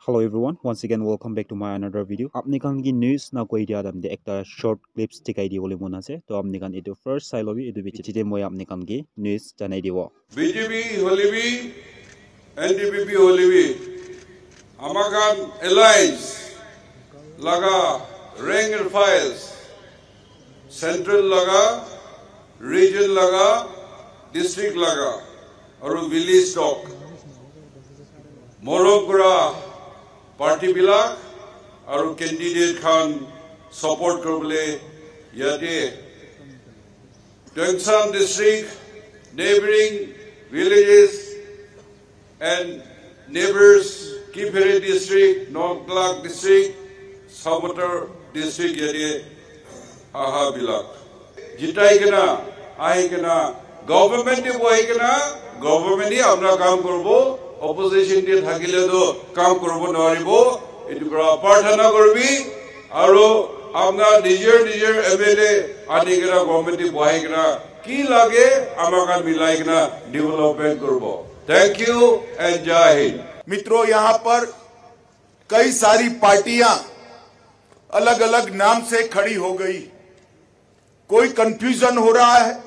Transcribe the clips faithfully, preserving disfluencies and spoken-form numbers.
Hello everyone, once again welcome back to my another video. Apni khan ki news na koi dia dam de ekta short clips dikhai di bole mon ase. To apni khan etu first sai lobi, etu bichi de moi apni khan ki news janai dibo. B J P holebi, N D P P holebi, ama khan alliance laga rank and files, central laga, region laga, district laga, aru village talk. Morom kura party bilak aru candidate khan support kuribole yate Tuensang district, neighboring villages and neighbors, Kiphire district, Nongklak district, Sabotor district yate aha bilak. Jitai kena, ahi kena, government te bohi kena, government hi apna kam koribo, opposition te thakile to kam koribo noribo, etu pora prarthana koribi, aru apna nijor nijor M L A ani kena government te bohi kena, ki lage ama khan milai kena development koribo. Thank you and Jai Hind. मित्रों, यहाँ पर कई सारी पार्टियां अलग-अलग नाम से खड़ी हो गई। कोई कंफ्यूजन हो रहा है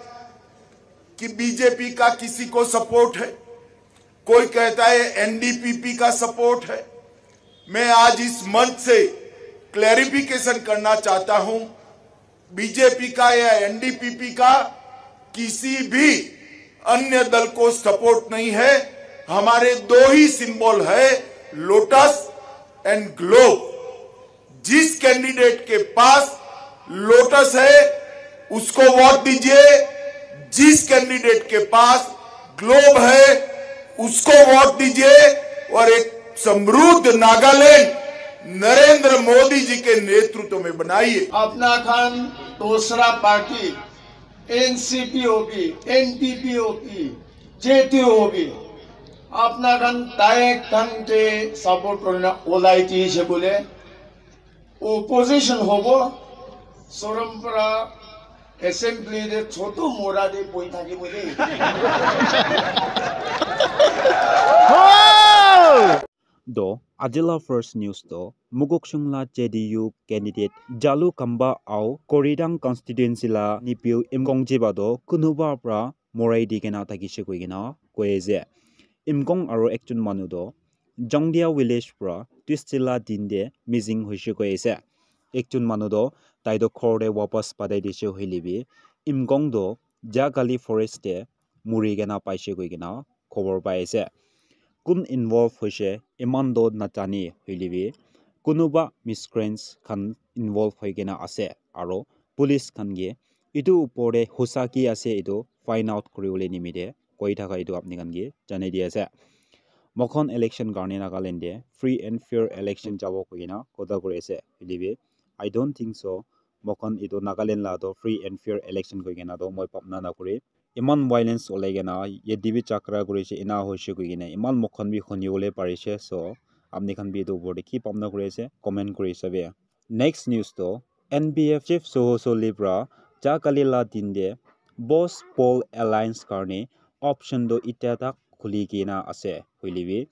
कि बीजेपी का किसी को सपोर्ट है, कोई कहता है एनडीपीपी का सपोर्ट है। मैं आज इस मंच से क्लैरिफिकेशन करना चाहता हूं, बीजेपी का या एनडीपीपी का किसी भी अन्य दल को सपोर्ट नहीं है। हमारे दो ही सिंबल है, लोटस एंड ग्लोब। जिस कैंडिडेट के पास लोटस है, उसको वोट दीजिए। जिस कैंडिडेट के पास ग्लोब है, उसको वोट दीजिए और एक समृद्ध नागालैंड नरेंद्र मोदी जी के नेतृत्व में बनाइए। Apna khan dusra party, N C P hobi, N D P hobi, J T U hobi, apna khan tai khan ke support korina olai dise bole, opposition hobo, sorom para assembly de chotu mora de boi thakibo de. Do ajila first news do Mokokchung la J D U candidate Jalu Kamba au Koridang constituency la Nipiu Imkong Jiba do kunuba pra morai di kena thakishe koi kena koi ase. Imkong aro ekjon manu do Jangdia village pra Tuesday la din de missing hoishe koi ase. Ekjon manu do tai do ghor de wapas patai dishe hoile bi Imkong do Jagale forest de muri kena paishe koi kena khobor pai ase. Kun involve hoishe iman do najane hoile bi kunuba miscreants khan involve hoi kena ase aro police khan ke etu upor te hosa ki ase etu find out kuri bole nimite koi thaka etu apni khan ke janai di ase. Moikhan election karne Nagaland te free and fair election jabo koi kena kotha kuri ase hoile bi I don't think so moikhan etu Nagaland la to free and fair election koi kena to moi bhabna na kuri. Iman violence olai kena yate bi jhagara kuri ase ena hoishe koi kena iman moikhan bi huni bole pari ase. So apni khan bi etu upor te ki bhabna kuri ase comment kuri sabi. Next news to N P F chief Soho Soli pra Jagale la din te Boss Paul Alliance karne option to itya tak khuli kena ase hoile bi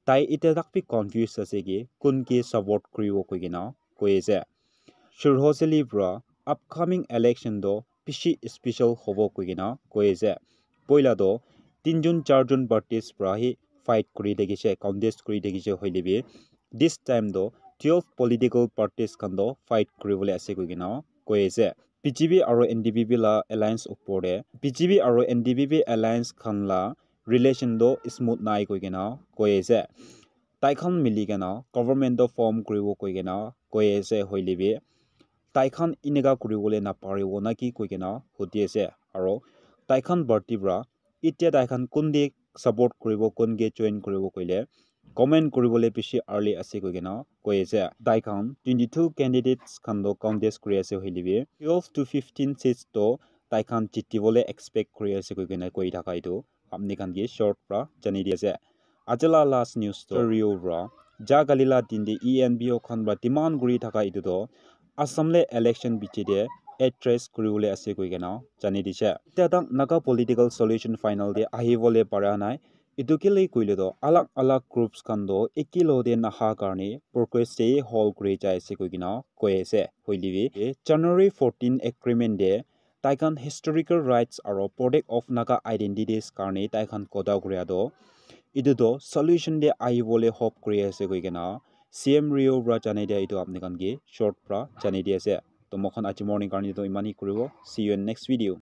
tai itya tak bi confuse ase ki kun ke support kuribo koi kena koi ase. Soho Soli pra upcoming election to bishi special hobo koi kena koi ase. Poila to tinjon charjon parties pra hi fight kuri thakishe, contest kuri thakishe hoile bi this time to twelve political parties khan to fight kuri bole ase koi kena koi ase. B J P aro N D P P la alliance upor te B J P aro N D P P alliance khan la relation to smooth nai koi kena koi ase. Tai khan mili kena government to form kuribo koi kena koi ase hoile bi tai khan eneka kuri bole na paribo na ki koi kena hudi ase aro tai khan party pra itya tai khan kun de support kuribo kun ke join kuribo koile comment kuri bole bishi early ase koi kena koi ase. Tai khan twenty two candidates khan to contest kuri ase hoile bi twelve to fifteen seats to tai khan jiti bole expect kuri ase koi kena koi thaka etu apni khan ke short pra janai di ase. Aji la last news to Rio pra Jagale la din te E N P O khan pra demand kuri thaka etu to Assam le election bichi te address kuri bole ase koi kena janai dishe. Itya tak Naga political solution final te ahi bole para nai. Etu kile koile toh alag alag groups khan toh eke logote naha karne progress te hold kuri jai ase koi kena koi ase. Hoile bi January fourteen agreement te tai khan historical rights aro protect of Naga identities karne tai khan kotha kuria toh etu toh solution te ahi bole hope kuri ase koi kena C M Rio para janai dia etu apni khan ke short para janai di ase. Toh moi khan aji morning karne toh eman hi kuribo. See you in next video.